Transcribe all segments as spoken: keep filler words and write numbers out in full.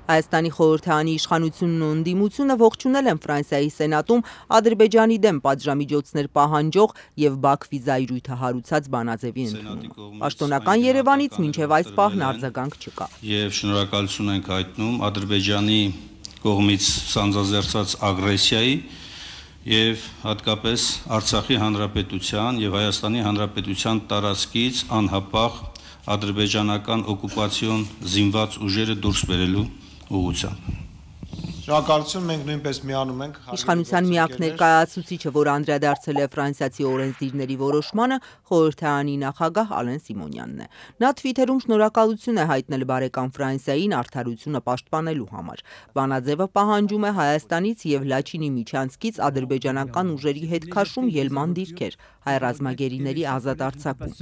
Հայաստանի խորհրդարանի իշխանությունն ու ընդդիմությունը ողջունել են Ֆրանսիայի սենատում Ադրբեջանի դեմ պատժամիջոցներ պահանջող եւ Բաքվի զայրույթը հարուցած Բանաձևի ընդունումը։ Պաշտոնական Երևանից մինչև այս պահն արձագանք չկա։ Եվ շնորհակալություն ենք հայտնում Ադրբեջանի կողմից սանձազերծած ագրեսիայի եւ հատկապես Արցախի հանրապետության եւ Հայաստանի հանրապետության տարածքից անհապաղ ադրբեջանական օկուպացիոն զինված ուժերը դուրս բերելու ուղղությամբ։ Շնորհակալություն, մենք նույնպես միանում ենք։ Իշխանության միակ ներկայացուցիչը, որ անդրադարձել է ֆրանսիացի օրենսդիրների որոշմանը, խորհրդարանի նախագահ Ալեն Սիմոնյանն է։ Նա թվիթերում շնորհակալություն է հայտնել բարեկամ Ֆրանսիային արդարությունը պաշտպանելու համար։ Բանաձևը պահանջում է Հայաստանից եւ Լաչինի միջանցքից ադրբեջանական ուժերի հետ քաշում ելման դիրքեր, հայ ռազմագերիների ազատ արձակում։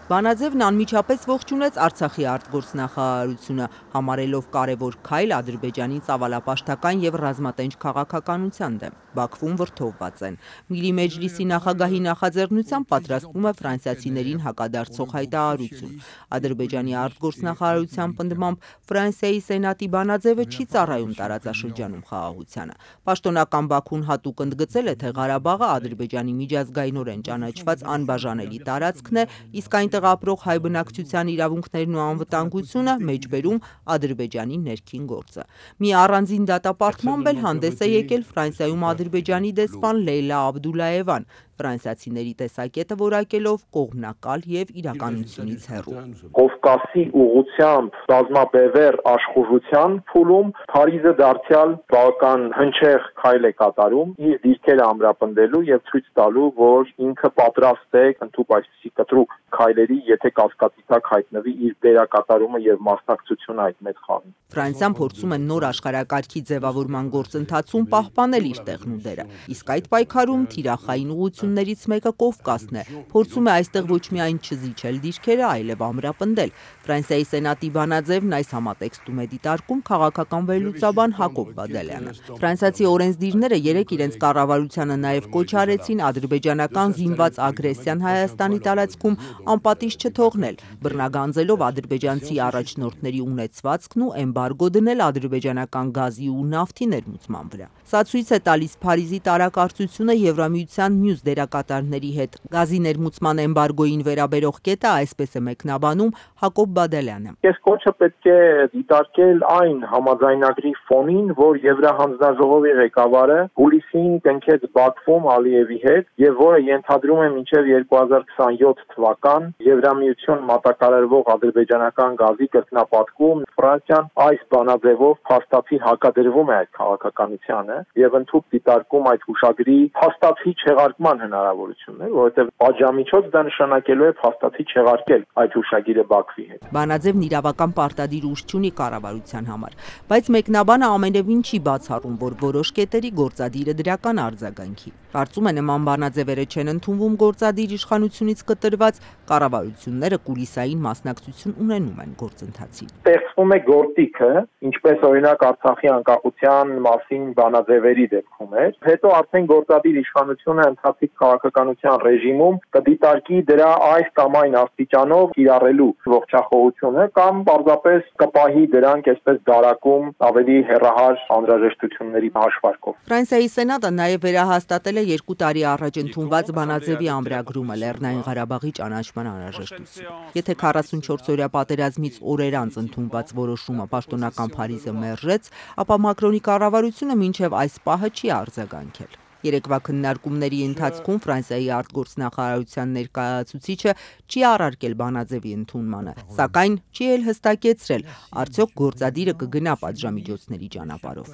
Բանաձևն անմիջապես ողջունեց Արցախի արտգործնախարարությունը, համարելով կարևոր քայլ Ադրբեջանի ծավալապաշտական եւ ռազմատենչ քաղաքականության դեմ։ Բաքվում վրդովված են։ Միլի Մեջլիսի նախագահի նախաձեռնությամբ պատրաստվում է ֆրանսիացիներին հակադարձող հայտարարություն։ Ադրբեջանի արտգործնախարարության պնդմամբ Ֆրանսիայի սենատի բանաձևը չի ծառայում տարածաշրջանում խաղաղությանը։ Պաշտոնական Բաքուն հատուկ ընդգծել է, թե Ղարաբաղը Ադրբեջանի միջազգայինորեն ճանաչված անբաժանելի տարածքն է, իսկ այն ապրող հայ բնակչության իրավունքներն ու անվտանգությունը մեջբերում Ադրբեջանի ներքին գործը։ Մի առանձին դատապարտմամբ էլ հանդես է եկել Ֆրանսիայում Ադրբեջանի դեսպան Լեյլա Աբդուլաևան, ֆրանսիացիների տեսակետը որակելով կողմնակալ եւ իրականությունից հեռու։ Կովկասի ուղղությամբ ռազմաբևեռ աշխուժության փուլում Փարիզը դարձյալ բավական հնչեղ քայլ է կատարում իր դիրքերը ամրապնդելու եւ ցույց տալու, որ ինքը պատրաստ է ընդཐུպ այսպիսի կտրուկ քայլերի, եթե կասկածի տակ հայտնվի իր դերակատարումը եւ մասնակցությունը այդ մեծ խաղին։ Ֆրանսիան փորձում է նոր աշխարհակարգի ձևավորման գործընթացում պահպանել իր տեղն ու դերը, իսկ այդ պայքարում թիրախային ուղղություններից մեկը Կովկասն է, փորձում է այստեղ ոչ միայն չզիջել դիրքերը, այլև ամրապնդել։ Ֆրանսիայի սենատի բանաձևն այս համատեքստում է դիտարկում քաղաքական վերլուծաբան Հակոբ Բադալյանը։ Ֆրանսիացի օրենսդիրները երեկ իրենց կառավարությանը նաև կոչ արեցին ադրբեջանական զինված ագրեսիան Հայաստանի տարածքում անպատիժ չթողնել, բռնագանձելով ադրբեջանցի առաջնորդների ունեցվածքն ու էմբարգո դնել ադրբեջանական գազի ու նավթի ներմուծման վրա։ Սա ցույց է տալիս Փարիզի տարակարծությունը Եվրամիության մյուս դերակատարների հետ։ Գազի ներմուծման էմբարգոին վերաբերող կետը այսպես է մեկնաբանում Հակոբ Բադալյանը։ Այս կոչը պետք է դիտարկել այն համաձայնագրի ֆոնին, որ Եվրահանձնաժողովի ղեկավարը հուլիսին կնքեց Բաքվում Ալիևի հետ եւ որը ենթադրում է մինչեւ երկու հազար քսանյոթ թվական Եվրամիություն մատակարարվող ադրբեջանական գազի կրկնապատկում։ Ֆրանսիան այս բանաձևով փաստացի հակադրվում է այդ քաղաքականությանը եւ ընդհանուր դիտարկում այդ հուշագրի փաստացի չեղարկման հնարավորությունն է, որովհետեւ պատժամիջոց դա նշանակելու է փաստացի չեղարկել այդ հուշագիրը Բաքվի հետ։ Բանաձևն իրավական պարտադիր ուժ չունի կառավարության համար, բայց մեկնաբանը ամենևին չի բացառում, որ որոշ կետերի գործադիրը դրական արձագանքի։ Կարծում է նման բանաձևերը չեն ընդունվում գործադիր իշխանությունից կտրված, կառավարությունները կուլիսային մասնակցություն ունենում են գործընթացին։ Ստեղծվում է գործիքը, ինչպես օրինակ Արցախի անկախության մասին բանաձևերի դեպքում էր, հետո արդեն գործադիր իշխանությունը ընթացիկ քաղաքականության ռեժիմում կդիտարկի դրա այս կամ այն աստիճանով կիրառելու ողջախոհությունը կամ պարզապես կպահի դրանք այսպես դարակում ավելի հեռահար անհրաժեշտությունների հաշվարկով։ Ֆրանսիայի սենատը նաև վերահաստատել է երկու տարի առաջ ընդունված բանաձևի ամրագրումը Լեռնային Ղարաբաղի ճանաչման անհրաժեշտություն։ Եթե քառասունչորս օրյա պատերազմից օրեր անց ընդունված որոշումը պաշտոնական Փարիզը մերժեց, ապա Մակրոնի կառավարությունը մինչև այս պահը չի արձագանքել։ Երեկվա քննարկումների ընթացքում Ֆրանսիայի արտգործնախարարության ներկայացուցիչը չի առարկել բանաձևի ընդունմանը, սակայն չի էլ հստակեցրել, արդյոք գործադիրը կգնա պատժամիջոցների ճանապարհով։